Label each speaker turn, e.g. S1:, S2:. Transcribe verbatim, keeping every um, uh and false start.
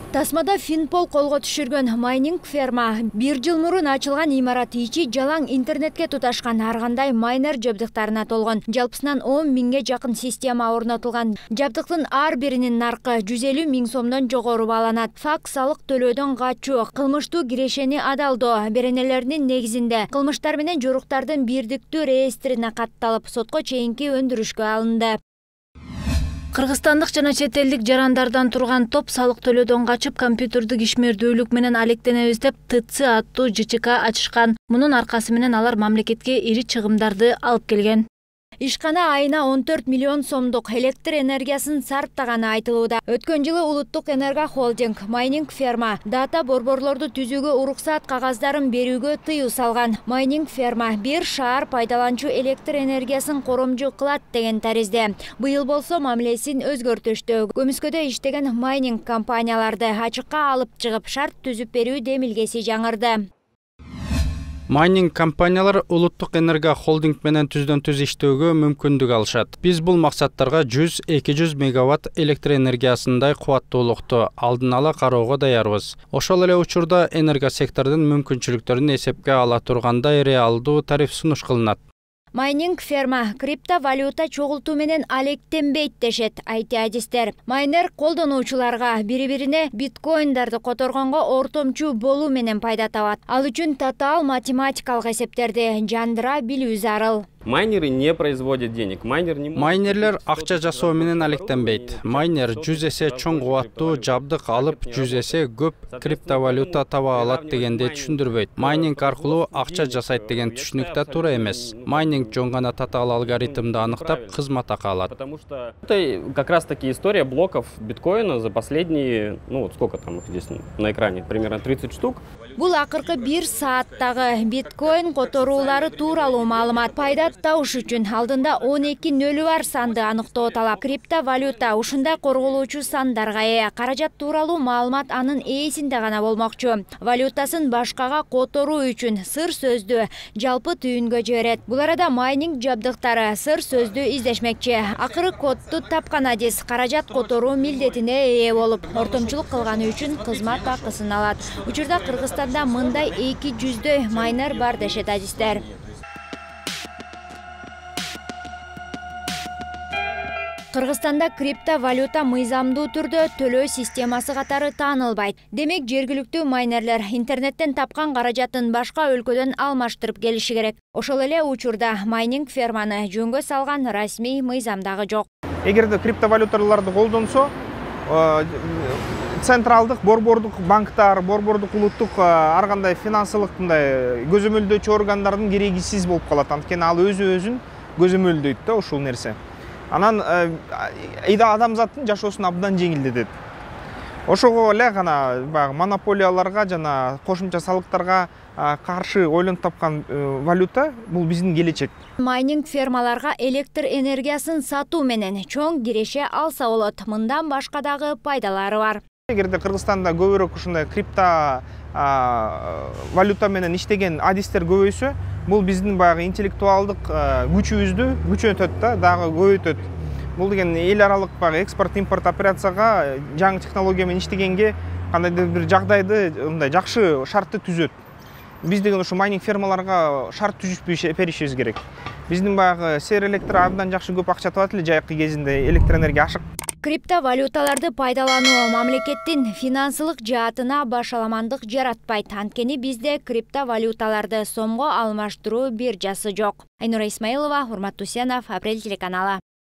S1: Тасмада Финпол колго түшүргөн майнинг ферма бир жыл мурун ачылган имарат ичи жалаң интернетке туташкан ар кандай майнер жабдыктарына толгон. Жалпысынан он миңге жакын система орнотулган. Жабдыктын ар биринин наркы жүз элүү миң сомдон жогору бааланат. Фак салык төлөөдөн качуу, кылмыштуу кирешени адалдоо беренелеринин негизинде кылмыштар менен жоруктардын бирдиктүү реестрине катталып, сотко чейинки өндүрүшкө алынды. Кыргызстандык жана чет элдик жарандардан турган топ салык төлөөдөн качып, компьютердик ишмердүүлүк менен алектенебиз деп Т Ц аттуу Ж Ч К ачышкан. Мунун аркасы менен алар мамлекетке ири чыгымдарды алып келген. Ишкана айына он төрт миллион сомдук электр энергиясын сарптаганы айтылууда. Өткөн жылы Улуттук энерго холдинг майнинг ферма дата борборлорду түзүүгө уруксаат кагаздарын берүүгө тыюу салган. Майнинг ферма бир шаар пайдаланчу электр энергиясын коромжу кылат деген таризде. Быйыл болсо мамилесин өзгөртүштү. Көмүскөдө иштеген майнинг компанияларды ачыкка алып чыгып, шарт түзүп берүү демилгеси жаңырды.
S2: Майнинг компаниялар Улуттук энерго холдинг менен түздөн түз иштөөгө мүмкүндүк алышат. Биз бул максаттарга жүз эки жүз мегаватт электр энергиясындай кубаттуулукту алдын ала кароого даярбыз. Ошол эле учурда энерго сектордун мүмкүнчүлүктөрүн эсепке ала тургандай реалдуу тариф сунуш кылынат.
S1: Майнинг ферма криптовалюта чогултуу менен алектенбейт дешет ай ти адистер. Майнер колдонуучуларга бири-бирине биткоиндарды которгонго ортомчу болуу менен пайда табат. Ал үчүн татаал математикалык эсептерди жандыра билүү зарыл.
S3: Майнеры не производят денег. Майнер не...
S2: Майнерлер акча жасоо менен алектенбейт. Майнер жүз эсе чоң кубаттуу жабдык алып, жүз эсе көп криптовалюта таба алат дегенди түшүндүрбөйт. Майнинг аркылуу акча жасайт деген түшүнүк да туура эмес. Майнинг жөн гана татаал алгоритмди аныктап, кызмат акы алат.
S3: Потому что это как раз таки история блоков биткоина за последние, ну вот сколько там их здесь на экране, примерно тридцать штук.
S1: Бул акыркы бир сааттагы биткоин которуулары тууралуу маалымат. Пайда табыш үчүн алдында он эки нөлү бар санды аныктоо талап. Криптовалюта ушундай корголуучу сандарга ээ. Каражат тууралуу маалымат анын ээсинде гана болмокчу. Валютасын башкага которуу үчүн сыр сөздү жалпы түйүнгө жиберет. Бул арада майнинг жабдыктары сыр сөздү издешмекчи. Акыры кодду тапкан адис каражат которуу милдетине ээ болуп, ортомчулук кылганы үчүн кызмат акысын алат. Учурда Кыргызстанда мындай эки жүздөй майнер бар дешет адистер. Кыргызстанда криптовалюта мыйзамдуу түрдө төлөө системасы катары таанылбайт. Демек, жергиликтүү майнерлер интернеттен тапкан каражатын башка өлкөдөн алмаштырып келиши керек. Ошол эле учурда майнинг ферманы жөнгө салган расмий мыйзам дагы жок.
S4: Эгерде криптовалюталарды колдонсо, централдык борбордук банктар, борбордук улуттук ар кандай финансылык мындай көзөмөлдөөчү органдардын керегисиз болуп калат. Анткени ал өзү өзүн көзөмөлдөйт да ушул нерсе. Анан айда адамзаттын жашоосун абдан жеңилдетет. Ошого эле гана баягы монополияларга жана кошумча салыктарга каршы ойлонуп тапкан валюта бул биздин келечек.
S1: Майнинг фермаларга электр энергиясын сатуу менен чоң киреше алса болот. Мындан башка дагы пайдалары бар.
S4: Эгерде Кыргызстанда көбүрөөк ушундай крипто валюта менен иштеген адистер көбөйсө, бул биздин баягы интеллектуалдык күчүбүздү күчөтөт да, дагы көбөйтөт. Бул деген эл аралык баягы экспорт-импорт операцияга жаңы технология менен иштегенге кандайдыр бир жагдайды мындай жакшы шартты түзөт. Биз деген ушу майнинг фермаларга шарт түзүп беришибиз керек. Биздин баягы сер электр абдан жакшы көп акча табат эле жайкы кезинде электр энергия ашык.
S1: Криптовалюталарды пайдалануу мамлекеттин финансылык жаатына башаламандык жаратпайт. Анткени бизде криптовалюталарды сомго алмаштыруу биржасы жок. Айнура Исмаилова, Урмат Тусенов, Апрель телеканалы.